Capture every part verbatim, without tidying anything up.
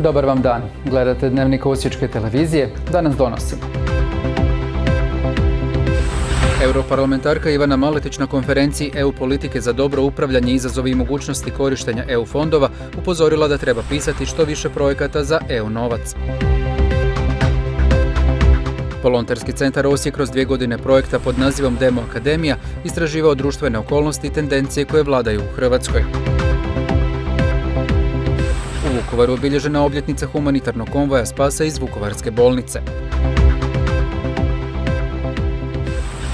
Dobar vam dan. Gledate Dnevnik Osječke televizije. Danas donosimo. Europarlamentarka Ivana Maletić na konferenciji E U politike za dobro upravljanje, izazovi i mogućnosti korištenja E U fondova upozorila da treba pisati što više projekata za E U novac. Volonterski centar Osijek kroz dvije godine projekta pod nazivom Demo Akademija istraživao društvene okolnosti i tendencije koje vladaju u Hrvatskoj. U Vukovaru obilježena obljetnica humanitarnog konvoja spasa iz Vukovarske bolnice.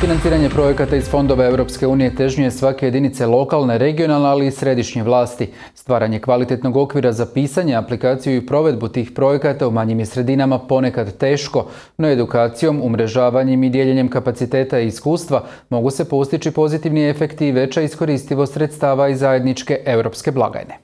Financiranje projekata iz fondova Europske unije težnje svake jedinice lokalne, regionalne, ali i središnje vlasti. Stvaranje kvalitetnog okvira za pisanje, aplikaciju i provedbu tih projekata u manjim je sredinama ponekad teško, no edukacijom, umrežavanjem i dijeljenjem kapaciteta i iskustva mogu se postići pozitivni efekti i veća iskoristivost sredstava iz zajedničke europske blagajne.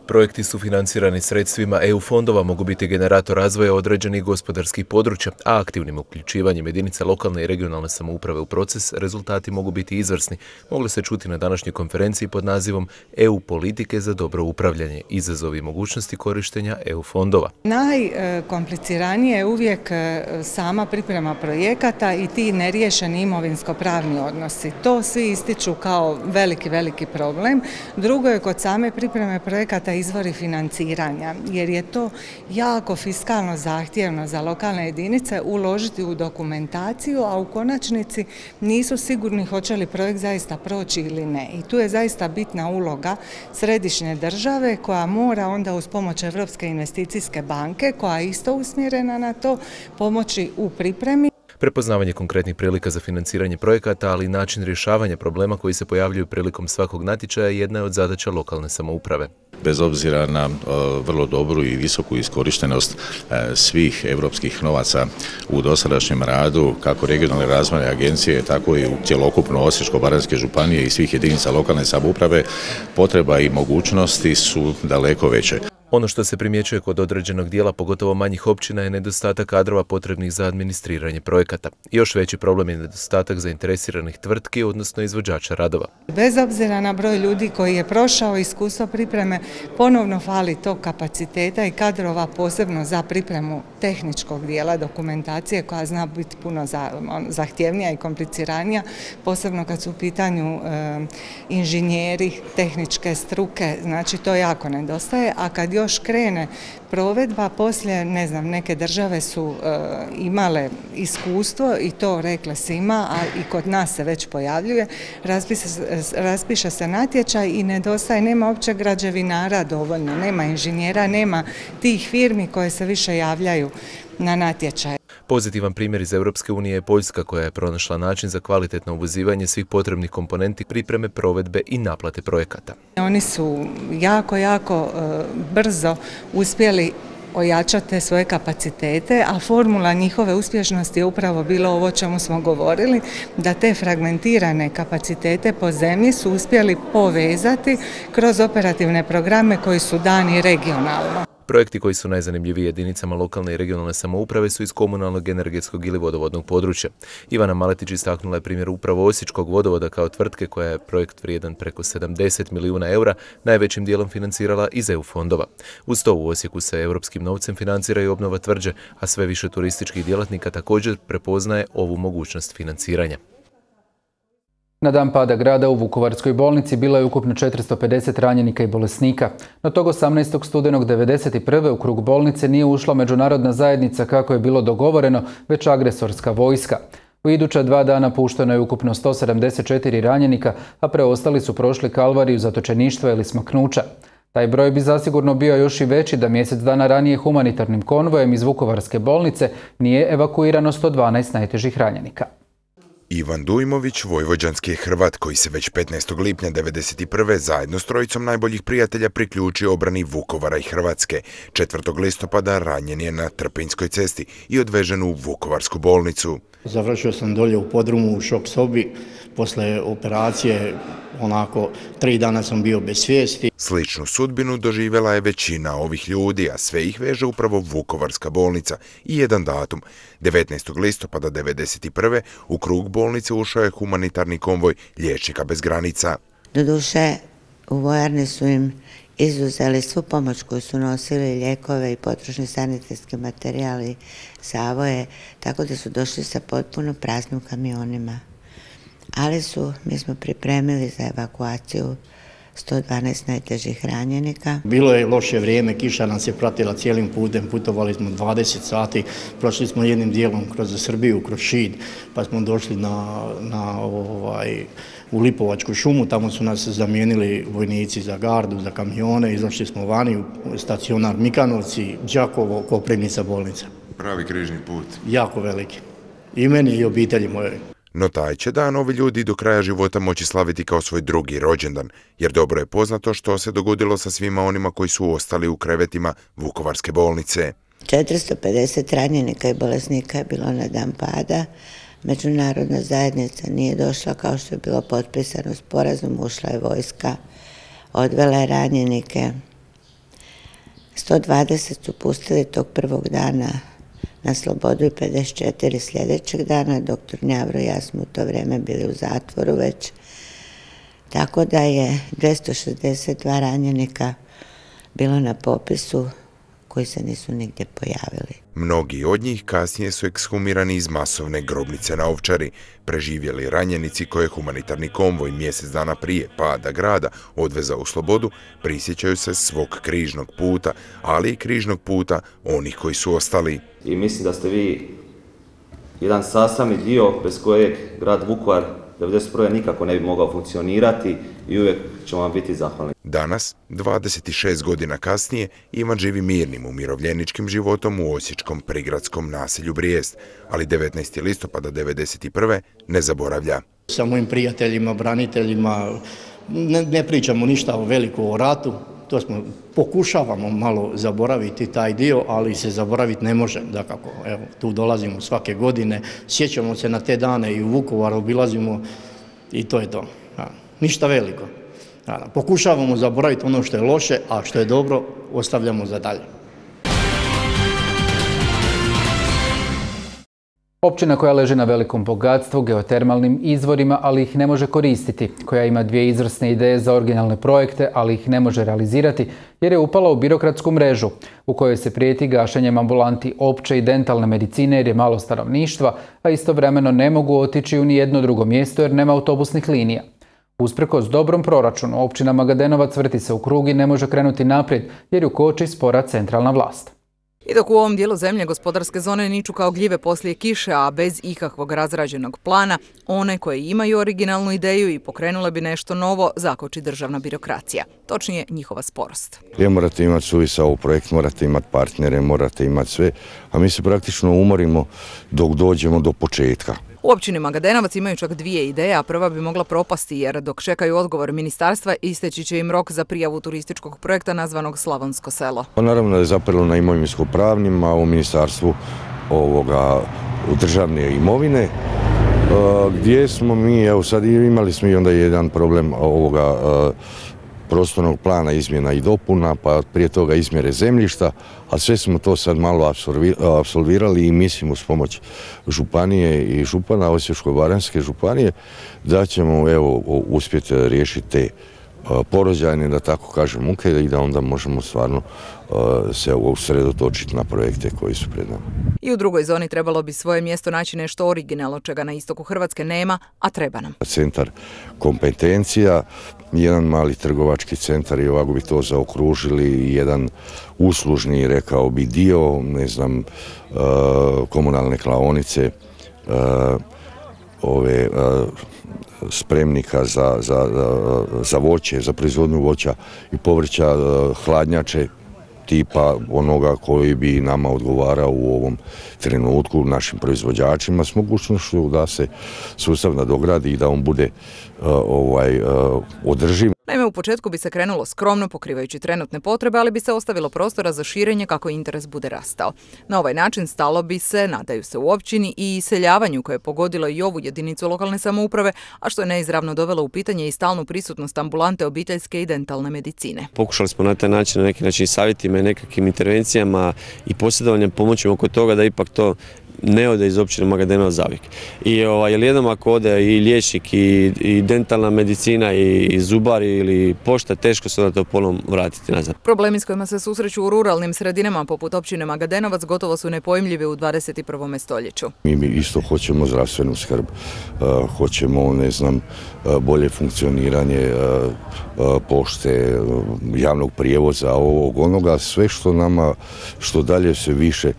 Projekti su financirani sredstvima E U fondova mogu biti generator razvoja određenih gospodarskih područja, a aktivnim uključivanjem jedinica lokalne i regionalne samouprave u proces rezultati mogu biti izvrsni. Mogli se čuti na današnjoj konferenciji pod nazivom E U politike za dobro upravljanje, izazovi i mogućnosti korištenja E U fondova. Najkompliciranije je uvijek sama priprema projekata i ti neriješeni imovinsko-pravni odnosi. To svi ističu kao veliki, veliki problem. Drugo je kod same pripreme projekata izvori financiranja, jer je to jako fiskalno zahtjevno za lokalne jedinice uložiti u dokumentaciju, a u konačnici nisu sigurni hoće li projekt zaista proći ili ne. I tu je zaista bitna uloga središnje države koja mora onda uz pomoć Europske investicijske banke, koja je isto usmjerena na to, pomoći u pripremi. Prepoznavanje konkretnih prilika za financiranje projekata, ali i način rješavanja problema koji se pojavljuju prilikom svakog natječaja jedna je od zadaća lokalne samouprave. Bez obzira na uh, vrlo dobru i visoku iskorištenost uh, svih europskih novaca u dosadašnjem radu, kako regionalne razvojne agencije, tako i u cjelokupno Osječko-baranjske županije i svih jedinica lokalne samouprave, potreba i mogućnosti su daleko veće. Ono što se primjećuje kod određenog dijela, pogotovo manjih općina, je nedostatak kadrova potrebnih za administriranje projekata. Još veći problem je nedostatak zainteresiranih tvrtki, odnosno izvođača radova. Bez obzira na broj ljudi koji je prošao iskustvo pripreme, ponovno fali tog kapaciteta i kadrova, posebno za pripremu tehničkog dijela dokumentacije, koja zna biti puno zahtjevnija i kompliciranija, posebno kad su u pitanju e, inženjeri, tehničke struke, znači to jako nedostaje, a kad još krene provedba, poslije, ne znam, neke države su e, imale iskustvo i to rekle svima, a i kod nas se već pojavljuje, raspiše, raspiše se natječaj i nedostaje, nema uopće građevinara dovoljno, nema inženjera, nema tih firmi koje se više javljaju na natječaj. Pozitivan primjer iz Europske unije je Poljska, koja je pronašla način za kvalitetno uvozivanje svih potrebnih komponenti pripreme, provedbe i naplate projekata. Oni su jako, jako uh, brzo uspjeli ojačati svoje kapacitete, a formula njihove uspješnosti je upravo bilo ovo o čemu smo govorili, da te fragmentirane kapacitete po zemlji su uspjeli povezati kroz operativne programe koji su dani regionalno. Projekti koji su najzanimljiviji jedinicama lokalne i regionalne samouprave su iz komunalnog, energetskog ili vodovodnog područja. Ivana Maletić istaknula je primjer upravo Osječkog vodovoda kao tvrtke koja je projekt vrijedan preko sedamdeset milijuna eura najvećim dijelom financirala iz E U fondova. Uz to u Osijeku se europskim novcem financira i obnova tvrđe, a sve više turističkih djelatnika također prepoznaje ovu mogućnost financiranja. Na dan pada grada u Vukovarskoj bolnici bilo je ukupno četiristo pedeset ranjenika i bolesnika. No tog osamnaestog studenog devedeset prve u krug bolnice nije ušla međunarodna zajednica kako je bilo dogovoreno, već agresorska vojska. U iduća dva dana pušteno je ukupno sto sedamdeset četiri ranjenika, a preostali su prošli kalvariju zatočeništva ili smaknuća. Taj broj bi zasigurno bio još i veći da mjesec dana ranije humanitarnim konvojem iz Vukovarske bolnice nije evakuirano sto dvanaest najtežih ranjenika. Ivan Dujmović, vojvođanski je Hrvat koji se već petnaestog lipnja devedeset prve zajedno s trojicom najboljih prijatelja priključio obrani Vukovara i Hrvatske. četvrtog listopada ranjen je na Trpinjskoj cesti i odvežen u Vukovarsku bolnicu. Završio sam dolje u podrumu u šok sobi. Posle operacije, onako, tri dana sam bio bez svijesti. Sličnu sudbinu doživjela je većina ovih ljudi, a sve ih veže upravo Vukovarska bolnica i jedan datum. devetnaestog listopada devedeset prve u krug bolnice ušao je humanitarni konvoj Liječnika bez granica. Doduše, u vojarni su im izuzeli svu pomoć koju su nosili, lijekove i potrošni sanitetski materijali, zavoje, tako da su došli sa potpuno praznim kamionima. Ali su, mi smo pripremili za evakuaciju sto dvanaest najtežih ranjenika. Bilo je loše vrijeme, kiša nas je pratila cijelim putem, putovali smo dvadeset sati, prošli smo jednim dijelom kroz Srbiju, kroz Šid, pa smo došli na, na, ovaj, u Lipovačku šumu, tamo su nas zamijenili vojnici za gardu, za kamione, izašli smo vani u stacionar Mikanovci, Đakovo, Koprivnica, bolnica. Pravi križni put. Jako veliki. I meni i obitelji moje. No taj će dan ovi ljudi do kraja života moći slaviti kao svoj drugi rođendan, jer dobro je poznato što se dogodilo sa svima onima koji su ostali u krevetima Vukovarske bolnice. četiristo pedeset ranjenika i bolesnika je bilo na dan pada. Međunarodna zajednica nije došla kao što je bilo potpisano sporazum, ušla je vojska, odvela je ranjenike. sto dvadeset su pustili tog prvog dana na slobodu i pedeset četiri sljedećeg dana. Doktor Njavro i ja smo u to vrijeme bili u zatvoru već. Tako da je dvjesto šezdeset dva ranjenika bilo na popisu koji se nisu nigdje pojavili. Mnogi od njih kasnije su ekshumirani iz masovne grobnice na Ovčari. Preživjeli ranjenici koje je humanitarni konvoj mjesec dana prije pada grada odvezao u slobodu prisjećaju se svog križnog puta, ali i križnog puta onih koji su ostali. I mislim da ste vi jedan sastavni dio bez kojeg grad Vukovar devedeset prve nikako ne bi mogao funkcionirati i uvijek ćemo vam biti zahvalni. Danas, dvadeset šest godina kasnije, Ivan živi mirnim umirovljeničkim životom u osječkom prigradskom naselju Brijest, ali devetnaestog listopada devedeset prve ne zaboravlja. Sa mojim prijateljima, braniteljima, ne, ne pričamo ništa o veliko o ratu, to smo, pokušavamo malo zaboraviti taj dio, ali se zaboraviti ne može, dakako. Evo, tu dolazimo svake godine, sjećamo se na te dane i u Vukovaru obilazimo i to je to. Ja, ništa veliko. Ja, pokušavamo zaboraviti ono što je loše, a što je dobro ostavljamo za dalje. Općina koja leži na velikom bogatstvu, geotermalnim izvorima, ali ih ne može koristiti, koja ima dvije izvrsne ideje za originalne projekte, ali ih ne može realizirati, jer je upala u birokratsku mrežu, u kojoj se prijeti gašenjem ambulanti opće i dentalne medicine jer je malo stanovništva, a istovremeno ne mogu otići u nijedno drugo mjesto jer nema autobusnih linija. Usprkos dobrom proračunu, općina Magadenovac vrti se u krug i ne može krenuti naprijed, jer ju koči spora centralna vlast. I dok u ovom dijelu zemlje gospodarske zone niču kao gljive poslije kiše, a bez ikakvog razrađenog plana, one koje imaju originalnu ideju i pokrenule bi nešto novo, zakoči državna birokracija. Točnije, njihova sporost. Je, morate imati suvisao projekt, morate imati partnere, morate imati sve, a mi se praktično umorimo dok dođemo do početka. U općini Magadenovac imaju čak dvije ideje, a prva bi mogla propasti jer dok čekaju odgovor ministarstva isteći će im rok za prijavu turističkog projekta nazvanog Slavonsko selo. Naravno da je zapravo na imovinsko-pravnim, a u ministarstvu ovoga, u državne imovine, gdje smo mi, evo sad imali smo i onda jedan problem ovoga prostornog plana izmjena i dopuna, pa prije toga izmjere zemljišta, a sve smo to sad malo apsolvirali i mislim uz pomoć županije i župana Osječko-baranjske županije da ćemo evo uspjeti riješiti te porođajne, da tako kažem, muke i da onda možemo stvarno se usredotočiti na projekte koji su pred nama. I u drugoj zoni trebalo bi svoje mjesto naći nešto originalno, čega na istoku Hrvatske nema, a treba nam. Centar kompetencija, jedan mali trgovački centar i ovako bi to zaokružili, jedan uslužni, rekao bi, dio, ne znam, komunalne klaonice, ove spremnika za, za, za voće, za proizvodnju voća i povrća, hladnjače tipa onoga koji bi nama odgovarao u ovom trenutku našim proizvođačima s mogućnošću da se sustav nadogradi i da on bude uh, ovaj, uh, održiv. Naime, u početku bi se krenulo skromno pokrivajući trenutne potrebe, ali bi se ostavilo prostora za širenje kako interes bude rastao. Na ovaj način stalo bi se, nadaju se u općini, i iseljavanju koje je pogodilo i ovu jedinicu lokalne samouprave, a što je neizravno dovelo u pitanje i stalnu prisutnost ambulante obiteljske i dentalne medicine. Pokušali smo na taj način, na neki način savjetima i nekakvim intervencijama i posjedovanjem pomoći oko toga da ipak to ne ode iz općine Magadenovac zavijek. I ovaj, jer jednom ako ode i liječnik i, i dentalna medicina i, i zubari ili pošta, teško se onda to ponovno vratiti nazad. Problemi s kojima se susreću u ruralnim sredinama poput općine Magadenovac gotovo su nepojmljivi u dvadeset prvom stoljeću. Mi isto hoćemo zdravstvenu skrb, uh, hoćemo, ne znam, uh, bolje funkcioniranje uh, uh, pošte, uh, javnog prijevoza, ovog onoga, sve što nama, što dalje se više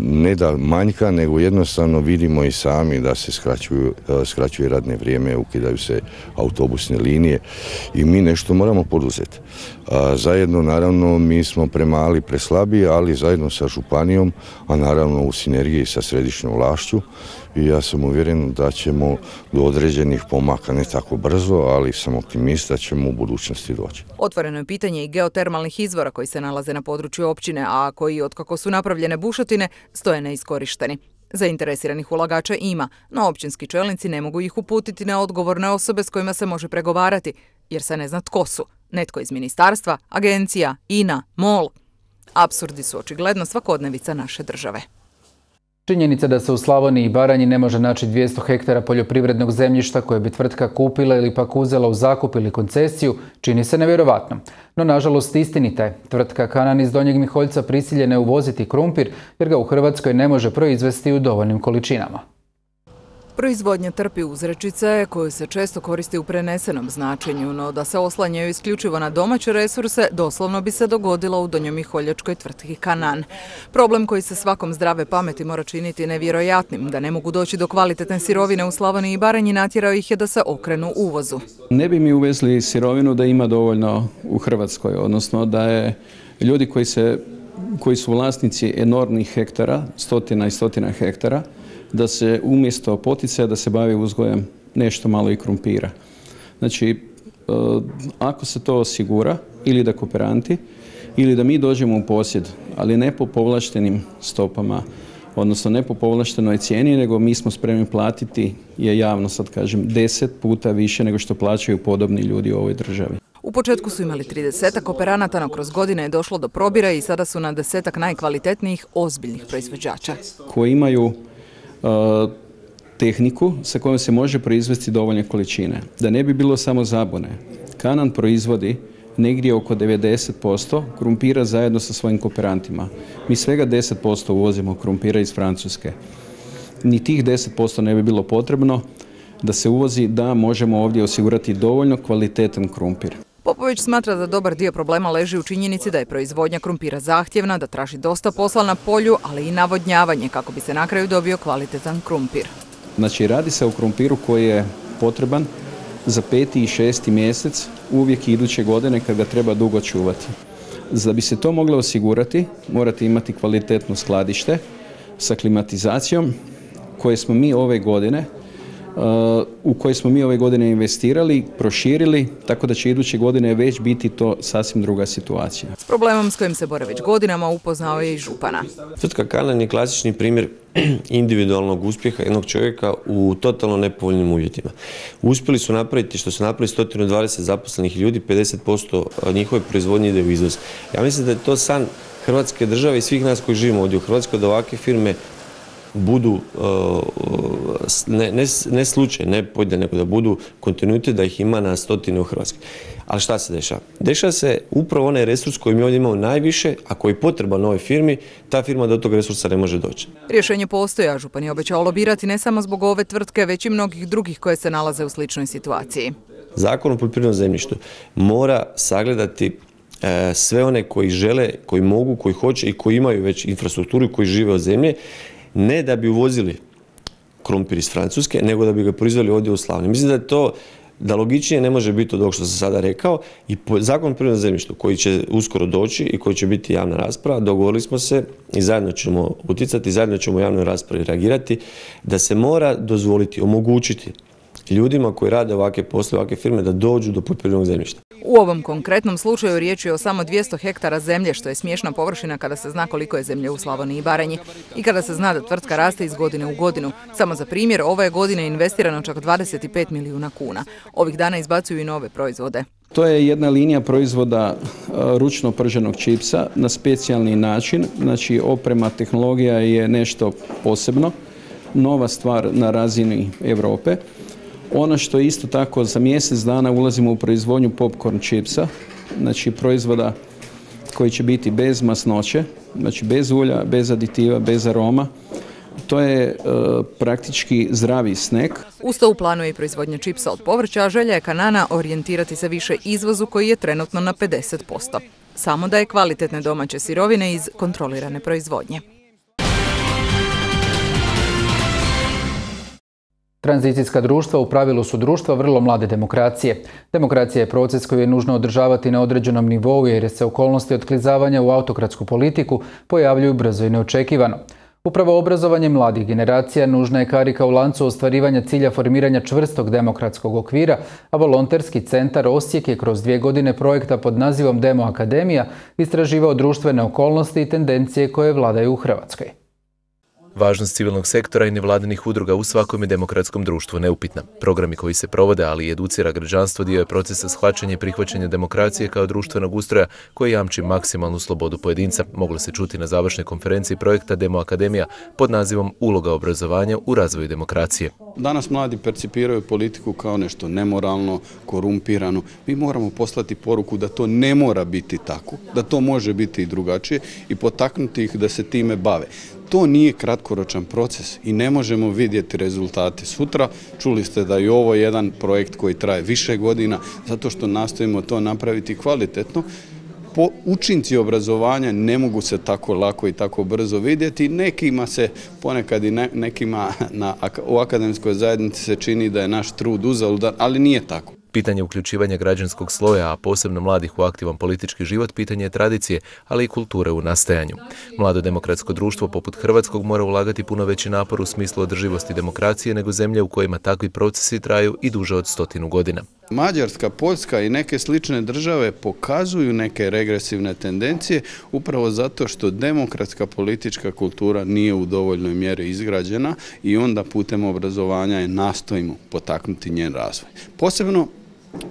ne da manjka, nego jednostavno vidimo i sami da se skraćuju, skraćuje radne vrijeme, ukidaju se autobusne linije i mi nešto moramo poduzeti. Zajedno, naravno, mi smo premali, preslabi, ali zajedno sa županijom, a naravno u sinergiji sa središnjom vlašću, i ja sam uvjeren da ćemo do određenih pomaka, ne tako brzo, ali sam optimista da ćemo u budućnosti doći. Otvoreno je pitanje i geotermalnih izvora koji se nalaze na području općine, a koji, otkako su napravljene bušotine, stoje neiskorišteni. Zainteresiranih ulagača ima, no općinski čelnici ne mogu ih uputiti na odgovorne osobe s kojima se može pregovarati, jer se ne zna tko su. Netko iz ministarstva, agencija, I N A, MOL. Apsurdi su očigledno svakodnevica naše države. Činjenica da se u Slavoniji i Baranji ne može naći dvjesto hektara poljoprivrednog zemljišta koje bi tvrtka kupila ili pak uzela u zakup ili koncesiju čini se nevjerovatno. No, nažalost, istinita je. Tvrtka Kanan iz Donjeg Miholjca prisiljena je uvoziti krumpir jer ga u Hrvatskoj ne može proizvesti u dovoljnim količinama. Proizvodnja trpi uzrečice koju se često koristi u prenesenom značenju, no da se oslanjaju isključivo na domaće resurse doslovno bi se dogodilo u donjomiholjačkoj tvrtki Kanan. Problem koji se svakom zdrave pameti mora činiti nevjerojatnim, da ne mogu doći do kvalitetne sirovine u Slavoniji i Baranji, natjerao ih je da se okrenu uvozu. Ne bi mi uvezli sirovinu da ima dovoljno u Hrvatskoj, odnosno da je ljudi koji, se, koji su vlasnici enormnih hektara, stotina i stotina hektara, da se umjesto poticaja da se bavi uzgojem nešto malo i krumpira. Znači, ako se to osigura, ili da kooperanti, ili da mi dođemo u posjed, ali ne po povlaštenim stopama, odnosno ne po povlaštenoj cijeni, nego mi smo spremni platiti, je javno sad kažem, deset puta više nego što plaćaju podobni ljudi u ovoj državi. U početku su imali tridesetak kooperanata, no kroz godine je došlo do probira i sada su na desetak najkvalitetnijih ozbiljnih proizvođača. Koji imaju tehniku sa kojom se može proizvesti dovoljne količine. Da ne bi bilo samo zabune, Kanan proizvodi negdje oko devedeset posto krumpira zajedno sa svojim kooperantima. Mi svega deset posto uvozimo krumpira iz Francuske. Ni tih deset posto ne bi bilo potrebno da se uvozi, da možemo ovdje osigurati dovoljno kvalitetan krumpir. Popović smatra da dobar dio problema leži u činjenici da je proizvodnja krumpira zahtjevna, da traži dosta posla na polju, ali i navodnjavanje kako bi se na kraju dobio kvalitetan krumpir. Znači, radi se o krumpiru koji je potreban za peti i šesti mjesec, uvijek iduće godine kad ga treba dugo čuvati. Da bi se to moglo osigurati, morate imati kvalitetno skladište sa klimatizacijom koje smo mi ove godine u koje smo mi ove godine investirali, proširili, tako da će iduće godine već biti to sasvim druga situacija. S problemom s kojim se bore već godinama upoznao je i župana. Tvrtka Kanan je klasični primjer individualnog uspjeha jednog čovjeka u totalno nepovoljnim uvjetima. Uspjeli su napraviti što su napravili sto dvadeset zaposlenih ljudi, pedeset posto njihove proizvodnje ide u izvoz. Ja mislim da je to san Hrvatske države i svih nas koji živimo ovdje u Hrvatskoj, da ovakve firme budu ne, ne, ne slučaj, ne pojedine, nego da budu kontinuitet, da ih ima na stotine u Hrvatskoj. Ali šta se dešava? Dešava se upravo onaj resurs koji mi ovdje imamo najviše, a koji je potreban novoj firmi, ta firma do tog resursa ne može doći. Rješenje postoji, a župan je obećao lobirati ne samo zbog ove tvrtke, već i mnogih drugih koje se nalaze u sličnoj situaciji. Zakon o poljoprivrednom zemljištu mora sagledati e, sve one koji žele, koji mogu, koji hoće i koji imaju već infrastrukturu i koji žive od zemlje, ne da bi uvozili krumpir iz Francuske, nego da bi ga proizveli ovdje u Slavoniji. Mislim da je to, da logičnije ne može biti od ovog što sam sada rekao, i Zakon o poljoprivrednom zemljištu koji će uskoro doći i koji će biti javna rasprava, dogovorili smo se i zajedno ćemo utjecati, zajedno ćemo u javnoj raspravi reagirati, da se mora dozvoliti, omogućiti ljudima koji rade ovakve poslove, ovakve firme, da dođu do poljoprivrednog zemljišta. U ovom konkretnom slučaju riječ je o samo dvjesto hektara zemlje, što je smiješna površina kada se zna koliko je zemlje u Slavoniji i Baranji i kada se zna da tvrtka raste iz godine u godinu. Samo za primjer, ove godine je investirano čak dvadeset pet milijuna kuna. Ovih dana izbacuju i nove proizvode. To je jedna linija proizvoda ručno prženog čipsa na specijalni način. Znači, oprema, tehnologija je nešto posebno, nova stvar na razini Europe. Ono što isto tako za mjesec dana ulazimo u proizvodnju popcorn čipsa, znači proizvoda koji će biti bez masnoće, znači bez ulja, bez aditiva, bez aroma. To je e, praktički zdravi snack. Uz to u planu je i proizvodnja čipsa od povrća, a želja je Kanana orijentirati se više izvozu koji je trenutno na pedeset posto. Samo da je kvalitetne domaće sirovine iz kontrolirane proizvodnje. Tranzicijska društva u pravilu su društva vrlo mlade demokracije. Demokracija je proces koji je nužno održavati na određenom nivou jer se okolnosti otklizavanja u autokratsku politiku pojavljuju brzo i neočekivano. Upravo obrazovanje mladih generacija nužna je karika u lancu ostvarivanja cilja formiranja čvrstog demokratskog okvira, a volonterski centar Osijek je kroz dvije godine projekta pod nazivom Demo Akademija istraživao društvene okolnosti i tendencije koje vladaju u Hrvatskoj. Važnost civilnog sektora i nevladinih udruga u svakom je demokratskom društvu neupitna. Programi koji se provode, ali i educira građanstvo, dio je procesa shvaćanja i prihvaćanja demokracije kao društvenog ustroja koji jamči maksimalnu slobodu pojedinca. Moglo se čuti na završnoj konferenciji projekta Demo Akademija pod nazivom Uloga obrazovanja u razvoju demokracije. Danas mladi percipiraju politiku kao nešto nemoralno, korumpirano. Mi moramo poslati poruku da to ne mora biti tako, da to može biti i drugačije i potaknuti ih da se time bave. To nije kratkoročan proces i ne možemo vidjeti rezultate sutra. Čuli ste da je ovo jedan projekt koji traje više godina zato što nastojimo to napraviti kvalitetno. Po učinci obrazovanja ne mogu se tako lako i tako brzo vidjeti. Nekima se, ponekad i ne, nekima na, u akademskoj zajednici se čini da je naš trud uzaludan, ali nije tako. Pitanje uključivanja građanskog sloja, a posebno mladih u aktivan politički život, pitanje je tradicije, ali i kulture u nastajanju. Mlado demokratsko društvo poput Hrvatskog mora ulagati puno veći napor u smislu održivosti demokracije nego zemlje u kojima takvi procesi traju i duže od stotinu godina. Mađarska, Poljska i neke slične države pokazuju neke regresivne tendencije upravo zato što demokratska politička kultura nije u dovoljnoj mjeri izgrađena i onda putem obrazovanja je nastojimo potaknuti njen razvoj. Posebno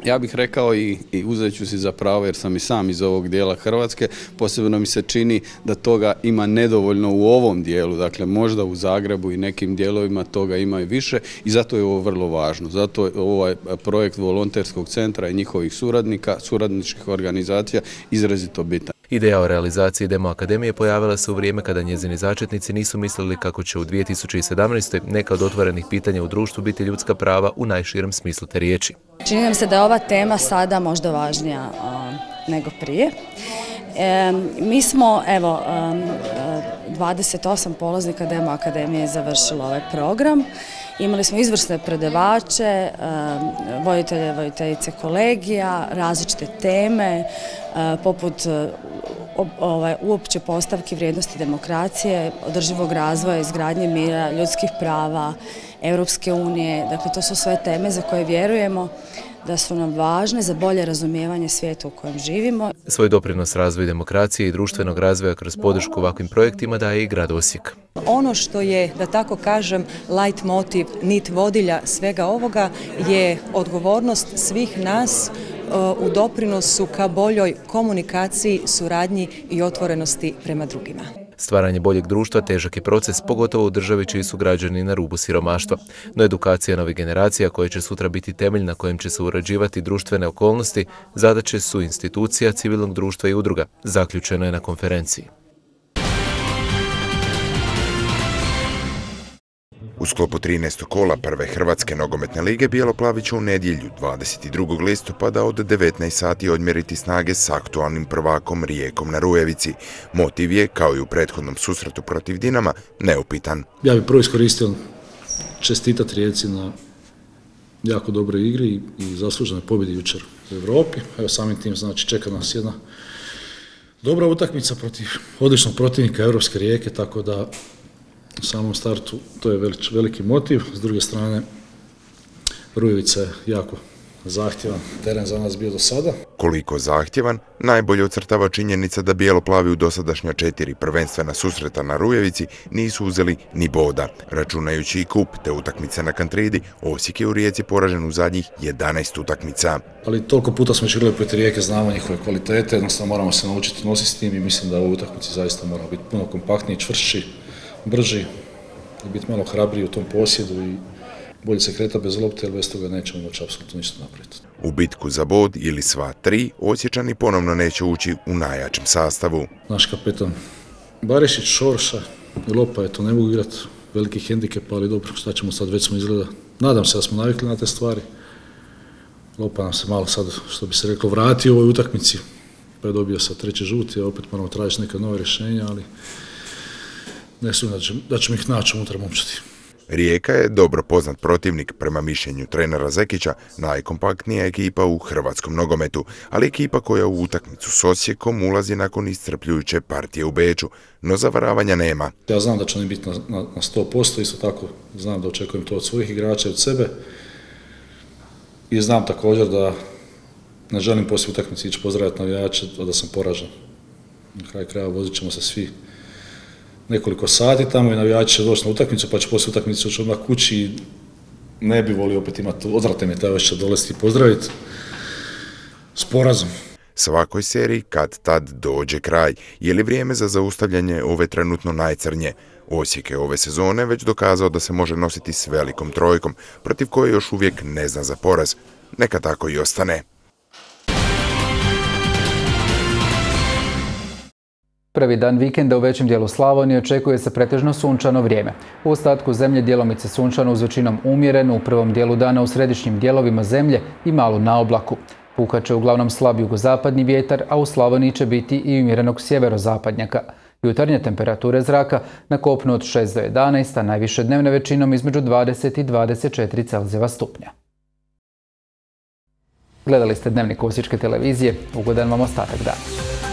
ja bih rekao i, i uzet ću si za pravo jer sam i sam iz ovog dijela Hrvatske, posebno mi se čini da toga ima nedovoljno u ovom dijelu, dakle možda u Zagrebu i nekim dijelovima toga ima i više i zato je ovo vrlo važno. Zato je ovaj projekt volonterskog centra i njihovih suradnika, suradničkih organizacija izrazito bitan. Ideja o realizaciji Demo Akademije pojavila se u vrijeme kada njezini začetnici nisu mislili kako će u dvije tisuće sedamnaestoj. neka od otvorenih pitanja u društvu biti ljudska prava u najširem smislu te riječi. Čini nam se da je ova tema sada možda važnija a, nego prije. E, mi smo, evo, dvadeset osam polaznika Demo Akademije završilo ovaj program. Imali smo izvrsne predavače, voditelje, voditeljice kolegija, različite teme, poput ovaj, uopće postavki vrijednosti demokracije, održivog razvoja, izgradnje mira, ljudskih prava, Europske unije. Dakle, to su sve teme za koje vjerujemo da su nam važne za bolje razumijevanje svijeta u kojem živimo. Svoj doprinos razvoju demokracije i društvenog razvoja kroz podršku ovakvim projektima daje i grad Osijek. Ono što je, da tako kažem, light motiv, nit vodilja svega ovoga je odgovornost svih nas u doprinosu ka boljoj komunikaciji, suradnji i otvorenosti prema drugima. Stvaranje boljeg društva težak je proces, pogotovo u državi čiji su građani na rubu siromaštva. No edukacija novih generacija koje će sutra biti temelj na kojem će se uređivati društvene okolnosti, zadaće su institucija, civilnog društva i udruga, zaključeno je na konferenciji. U sklopu trinaestog kola prve Hrvatske nogometne lige Bijelo-plavi će u nedjelju dvadeset drugog listopada od devetnaest sati odmjeriti snage s aktualnim prvakom Rijekom na Rujevici. Motiv je, kao i u prethodnom susretu protiv Dinama, neupitan. Ja bih prvo iskoristio čestitati Rijeci na jako dobroj igri i zasluženoj pobjedi jučer u Europi. Evo samim tim znači čeka nas jedna dobra utakmica protiv odličnog protivnika Europske Rijeke, tako da u samom startu to je veliki motiv. S druge strane, Rujevica je jako zahtjevan teren za nas bio do sada. Koliko zahtjevan, najbolje ocrtava činjenica da bijelo-plavi u dosadašnja četiri prvenstvena susreta na Rujevici nisu uzeli ni boda. Računajući i kup te utakmice na Kantridi, Osijek je u Rijeci poražen u zadnjih jedanaest utakmica. Ali toliko puta smo igrali protiv Rijeke, znamo njihove kvalitete, jednostavno moramo se naučiti nositi s tim i mislim da u utakmici zaista moramo biti puno kompaktniji, čvršći, brži i biti malo hrabriji u tom posjedu i bolje se kreta bez lopte, jer bez toga nećemo moći apsolutno ništa napraviti. U bitku za bod ili sva tri, Osječani ponovno neće ući u najjačem sastavu. Naš kapetan Barišić, Šorša i Lopa, eto, ne mogu igrati veliki hendikep, ali dobro, šta ćemo sad, već smo izgleda. Nadam se da smo navikli na te stvari. Lopa nam se malo sad, što bi se reklo, vratio u ovoj utakmici, pa je dobio sad treći žuti, a opet moramo tražiti neka nova rješenja, ali ne sumnjam da ćemo ih naći unutar momčadi. Rijeka je dobro poznat protivnik, prema mišljenju trenera Zekića, najkompaktnija ekipa u hrvatskom nogometu, ali ekipa koja u utakmicu s Osijekom ulazi nakon iscrpljujuće partije u Beču, no zavaravanja nema. Ja znam da će oni biti na, na, na sto posto, isto tako znam da očekujem to od svojih igrača i od sebe i znam također da ne želim poslije utakmice ići pozdraviti navijače, a da sam poražen. Na kraju kraja vozit ćemo se svi nekoliko sati tamo i navijači će doći na utakmicu, pa će poslije utakmice ući odmah kući i ne bi volio opet imati, odvrate mi taj osjećaj dolesti i pozdraviti s porazom. Svakoj seriji kad tad dođe kraj. Je li vrijeme za zaustavljanje ove trenutno najcrnje? Osijek je ove sezone već dokazao da se može nositi s velikom trojkom, protiv koje još uvijek ne zna za poraz. Neka tako i ostane. Prvi dan vikenda u većem dijelu Slavonije očekuje se pretežno sunčano vrijeme. U ostatku zemlje djelomice sunčano uz većinom umjereno, u prvom dijelu dana u središnjim dijelovima zemlje i malo na oblaku. Puhat će uglavnom slab jugozapadni vjetar, a u Slavoniji će biti i umjerenog sjeverozapadnjaka. Jutarnje temperature zraka na kopnu od šest do jedanaest, a najviše dnevne većinom između dvadeset i dvadeset četiri Celzijeva stupnja. Gledali ste Dnevnik Osječke televizije. Ugodan vam ostatak dana.